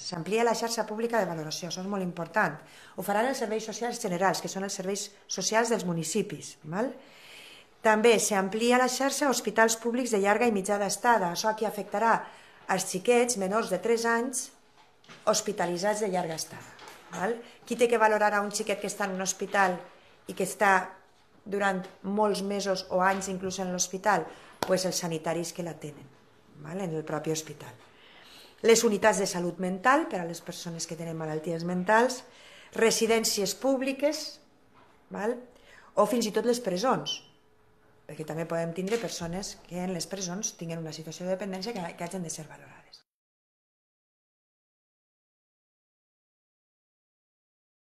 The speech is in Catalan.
s'amplia la xarxa pública de valoració, això és molt important. Ho faran els serveis socials generals, que són els serveis socials dels municipis. També s'amplia la xarxa a hospitals públics de llarga i mitjana estada. Això aquí afectarà als xiquets menors de 3 anys hospitalitzats de llarga estada. Qui té que valorar a un xiquet que està en un hospital i que està durant molts mesos o anys inclús en l'hospital? Doncs els sanitaris que l'atenen en el propi hospital. Les unitats de salut mental per a les persones que tenen malalties mentals, residències públiques o fins i tot les presons, perquè també podem tindre persones que en les presons tinguin una situació de dependència que hagin de ser valorades.